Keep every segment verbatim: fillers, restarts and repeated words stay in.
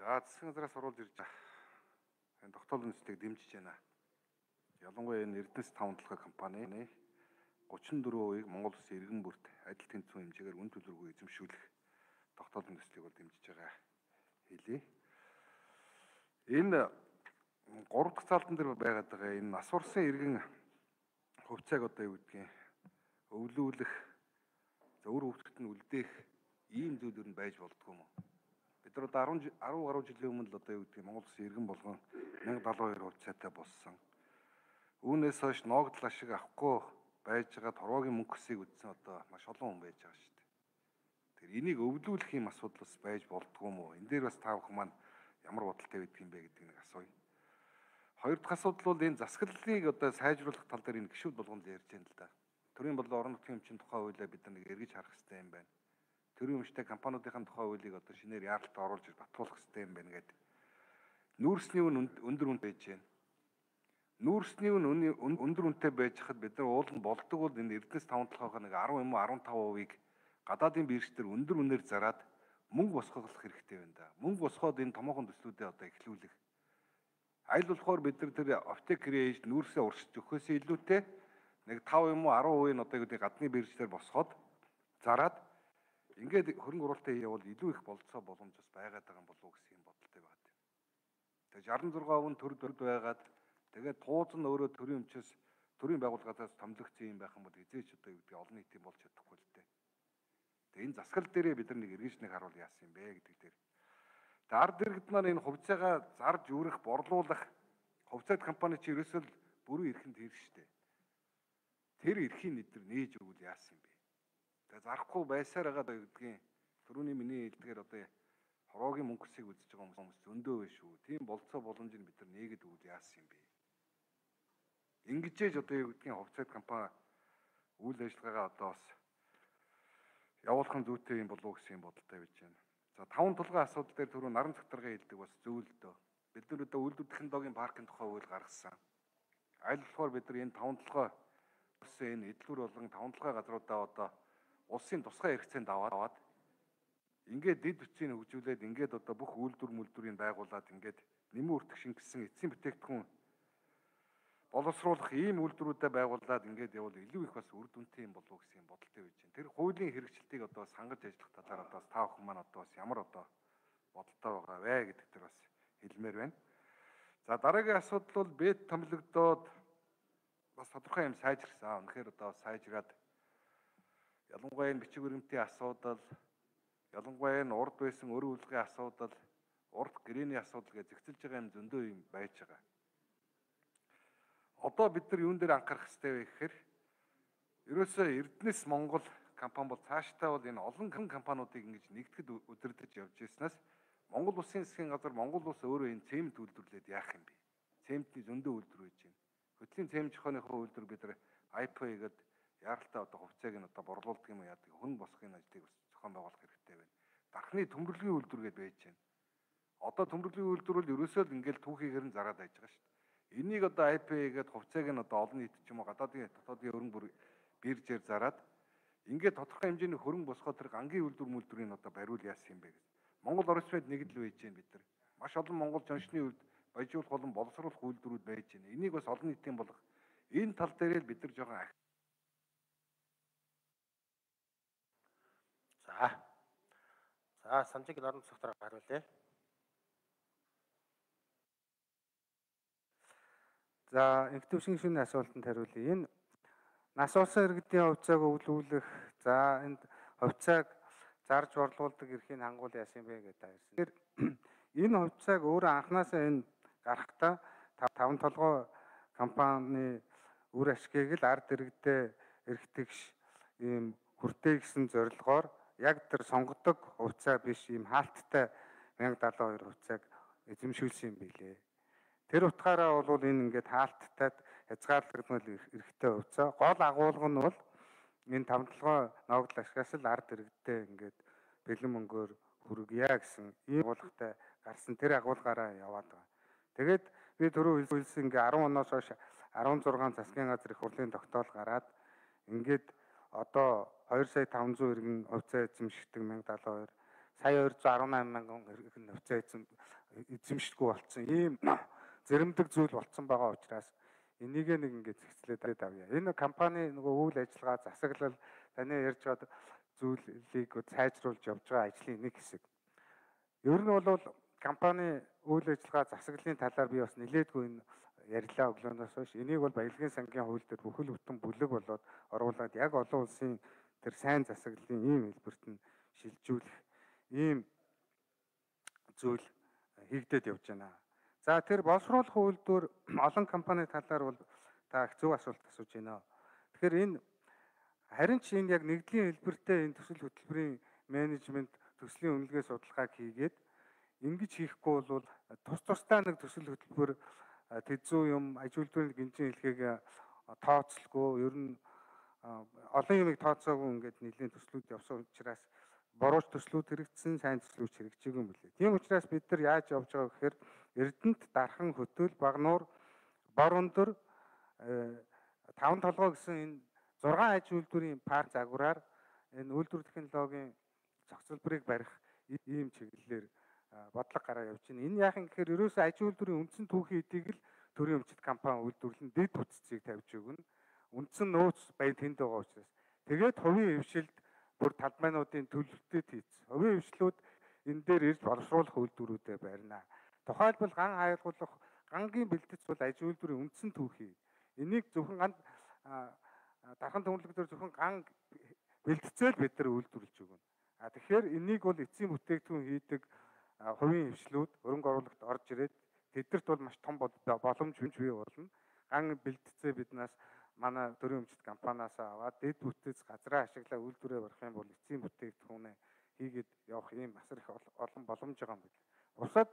За засгийн газраас оруулж ирж байгаа энэ тогтоолын нийцлийг дэмжиж байна. Ялангуяа энэ Эрдэнэс таван толгой компани гучин дөрвөн хувийг Монгол Улсын иргэн бүрт адил тэнцвэн хэмжээгээр үн төлбөргүй эзэмшүүлэх тогтоолын нийцлийг бол дэмжиж байгаа хэлье. Энэ гурав дахь цаалтан дээр байгаад байгаа энэ нас урсан иргэн хувьцааг одоо юу гэдгийг өвлүүлэх, зөвөр хөвгтөд нь үлдээх ийм зүйл юу байж болдгоо юм уу? Бид нар одоо арван гаруй жилийн өмнө л одоо юу гэдгийг Монгол Улсын иргэн болгон мянга далайн хоёр хувьцаатай болсон. Үүнээс хойш ноогдол ашиг авахгүй байж байгаа торгогийн мөнгөсийг үдсэн одоо маш олон хүн байж байгаа шүү дээ. Тэр энийг өвлүүлэх юм асуудал бас байж болдгоо юм уу? Энэ дээр бас та бүхэн маань ямар бодолтой байдаг юм бэ гэдэг нэг асууя. Хоёр дахь асуудал бол энэ засаглалыг одоо сайжруулах тал дээр энэ гишүүд болгон ярьж байна л да. Төрийн болон орон нутгийн өмчийн тухай хуулиа бид нар нэг эргэж харах хэрэгтэй юм байна. Төрийн өмчтэй компаниудын тухай хуулийг одоо шинээр яаралт оруулж батлуулах хэрэгтэй юм байна гэдэг. Нүүрсний үн өндөр үн байж байна. Нүүрсний үн өндөр үнэтэй байж хад бид нар уулын болдог бол энэ Эрдэнэс таван толгойгоо нэг арав юм уу арван тав хувийг гадаадын биржтэр өндөр үнээр зараад мөнгө босгох хэрэгтэй байна да. Мөнгө босгоод энэ томоохон төслүүдэд одоо эхлүүлэх. Аль болохоор бид нар тэр оптик рейж нүүрсээ уршиж өгөхөөс илүүтэй нэг тав юм уу арав хувийг одоо гэдэг гадны биржтэр босгоод зараад ингээд хөрөнгө оруулалтаа явал илүү их болцоо боломж бас байгаад байгаа юм болов уу гэсэн юм бодолтой байна. Тэгээ шестдесет и шесть он төр төрд байгаад тэгээд тууз нь өөрөө төрийн өмчөөс төрийн байгууллагаас томилогдсон юм байх юм бол эзээч одоо юу гэдэг олон нийтийн болж чадахгүй л дээ. Тэгээ энэ засгал дээрээ бид нар нэг эргэж нэг харуул яасан юм бэ гэдэг дээр. Тэгээ ард иргэд маань энэ хувьцаагаа зарж үүрэх, борлуулах хувьцаат компани чи ерөөсөө бүрэн эрхэнд хэрэг штэ. Тэр эрхийн нэдэр нээж өгвөл яасан юм бэ? Тэгээ зарахгүй байсаар байгаа гэдгийн түрүүний миний хэлдгээр одоо хороогийн мөнгөсийг үзэж байгаа хүмүүс зөндөө байна шүү. Тийм болцоо боломжийг бид нар нээгээд өгвөл яасан юм бэ? Ингэжээж одоо юу гэдгийг хувьцаат компани үйл ажиллагаагаа одоо бас явуулах нь зүйтэй юм болов уу гэсэн юм бодолтой байж байна. За таван толгой асуудал дээр түрүү наран цогторгын хэлдэг бас зөв л дөө. Бид нар одоо үйлдвэр технологийн паркын тухай үйл гаргасан. Аль болохоор бид нар энэ таван толгой үсэн энэ эдлүүр болон таван толгой газруудаа одоо улсын тусгай хэрэгцээнд аваад ингээд дэд бүтцийг хөгжүүлээд ингээд одоо бүх үйлдвэр мүлдвэрийг байгуулад ингээд нэмэн үртэх шингэсэн эцсийн бүтээгдэхүүн боловсруулах ийм үйлдвэрүүдэд байгуулад ингээд явал илүү их бас үр дүнтэй юм болов уу гэсэн бодолтой байж байна. Тэр хуулийн хэрэгжилтийг одоо сангаж ажиллах талаар одоо та бүхэн маань одоо бас ямар одоо бодолтой байгаа вэ гэдэг дээр бас хэлмээр байна. За дараагийн асуудал бол бэд томилогдоод бас тодорхой юм сайжирсан. Үнэхээр одоо сайжраад ялангуяа энэ бичиг баримтын асуудал, ялангуяа энэ урд байсан өр үлгийн асуудал, урд гэрээний асуудал гэж зэгцэлж байгаа юм зөндөө юм байж байгаа. Одоо бид нар юун дээр анхаарах хэрэгтэй вэ гэхээр ерөөсөө Эрдэнэс Монгол компани бол цаашдаа бол энэ олон компаниудыг ингэж нэгтгэд удирдах явж ирснээс Монгол Улсын засгийн газар Монгол Улс өөрөө энэ цемент үйлдвэрлээд яах юм бэ? Цементний зөндөө үйлдвэр байж байна. Хөтлийн цемент зохионохоо үйлдвэр бид нар ай пи о гэдэг яаралтай одоо хувьцааг нь одоо борлуулдаг юм яадаг хүн босхын ажлыг зохион байгуулах хэрэгтэй байна. Дархны төмөрлөгийн үйлдвэр гэдээ байж байна. Одоо төмөрлөгийн үйлдвэр бол ерөөсөө л ингээл түүхийгээр нь зараад байж байгаа шүү дээ. Энийг одоо ай пи о гэдэг хувьцааг нь одоо олон нийт ч юм уу гадаадын дотоодын хөрөнгө бүр биржээр зараад ингээд тодорхой хэмжээний хөрөнгө босгоод тэр гангийн үйлдвэр мүлдвэрийг одоо бариул яасан юм бэ гэж. Монгол орос мэд нэг л байж байна бид нар. Маш олон Монгол жоншны үед баяжуулах болон боловсруулах үйлдвэрүүд байж байна. Энийг бас олон нийтийн болгох энэ тал дээр л бид нар жоохон За. За, санжиг наран цогтор хариулъя. За, инхтөвшин шинэ асуултанд хариулъя. Энэ нас улсын иргэдийн хувьцааг өвлүүлэх, за энд хувьцааг зарж борлуулдаг эрхийг хангуул яасан бэ гэдэг та ирсэн. Тэр энэ хувьцааг өөрөө анханасаа энэ гарахтаа таван толгой компани үр ашгийг л ард иргэдэд эрхтэгш ийм хүртээ гэсэн зорилгоор яг тэр сонгодог хувьцаа биш ийм хаалттай мянга далайн хоёр хувьцааг эзэмшүүлсэн юм билээ. Тэр утгаараа бол энэ ингээд хаалттай хязгаарлагдмал эрхтэй хувьцаа. Гол агуулга нь бол энэ таван толгой ноогдол ашигаас л ард иргэдэд ингээд бэлэн мөнгөөр хүргье гэсэн ийм агуулгатай гарсан тэр агуулгаараа яваад байгаа. Тэгээд би түрүү хэлсэн ингээ арван оноос хойш арван зургаан засгийн газрын их хурлын тогтоол гараад ингээд одоо хоёр сая таван зуун иргэн хувьцаа эзэмшигдэг мянга далайн хоёр сая хоёр зуун арван найман мянган хэрэг хувьцаа эзэм эзэмшдэггүй болсон. Ийм зэрэмдэг зүйл болсон байгаа учраас энийг нэг ингээд зэгцлээд авъя. Энэ компани нөгөө үйл ажиллагаа засаглал таны ярьж байгаа зүйлийг сайжруулж явж байгаа ажлын нэг хэсэг. Ер нь бол компани үйл ажиллагаа засаглалын талаар би бас нэлээдгүй энэ ярилаа өглөөнөөс хойш. Энийг бол Баялагын сангийн хууль дээр бүхэл бүтэн бүлэг болоод оруулаад яг олон улсын тэр сайн засаглалын ийм хэлбэрт нь шилжүүлэх ийм зүйл хийгдээд явж байна. За тэр боловсруулах үйлдвэр олон компани талаар бол та их зөв асуулт асууж байна. Тэгэхээр энэ харин ч энэ яг нэгдлийн хэлбэртэй энэ төсөл хөтөлбөрийн менежмент төслийн үнэлгээ судалгааг хийгээд ингэж хийхгүй бол тус тусдаа нэг төсөл хөтөлбөр тэзүү юм аж үйлдвэрийн гинжин хэлхийг тооцолгүй ер нь олон юмыг тооцоогүй ингээд нэлийн төслүүд явсан учраас бурууч төслүүд хэрэгжсэн, сайн төслүүд хэрэгжээгүй юм билээ. Тийм учраас бид нар яаж явж байгаа гэхээр Эрдэнэт дархан хөтөл багнуур бор өндөр таван толгой гэсэн энэ зургаан аж үйлдвэрийн парк загвараар энэ үйлдвэр технологийн зохицолборыг барих ийм чиглэлээр бодлого гараа явж байна. Энэ яахан гэхээр ерөөсөө аж үйлдвэрийн үндсэн түүхийн эдийг л төрийн өмчит компани үйлдвэрлэн дэд бүтцийг тавьж өгнө. Үндсэн нөөц баян тэнд байгаа учраас тэгээд хувийн хвшилд бүр талбайнуудын төлөвлөлтөд хийсэн. Хувийн хвшлүүд энэ дээр ирж боловсруулах үйлдвэрүүдэд барина. Тухайлбал ган хаягуулах гангийн бэлтгэц бол аж үйлдвэрийн үндсэн түүхий. Энийг зөвхөн ган дархан төвлөг дээр зөвхөн ган бэлтцээл бид нар үйлдвэрлэж өгнө. А тэгэхээр энийг бол эцсийн бүтээгдэхүүн хийдэг хувийн хвшлүүд хөрөнгө оруулагт орж ирээд тэдэрт бол маш том боломж бий болно. Ган бэлтцээ биднээс манай төрийн өмчит компаниас аваад дэд бүтц газраа ашиглаа үйлдвэрээ барих юм бол эцсийн бүтээгдэхүүнээ хийгээд явах ийм асар их олон боломж байгаа юм байна. Бусад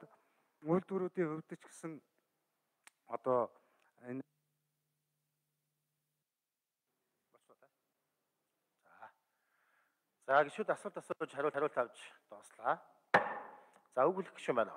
үйлдвэрүүдийн хувьд ч гэсэн одоо энэ За гişүүд асуулт асууж хариулт хариулт авч дууслаа. За өгүүлэх гişүүн байна уу?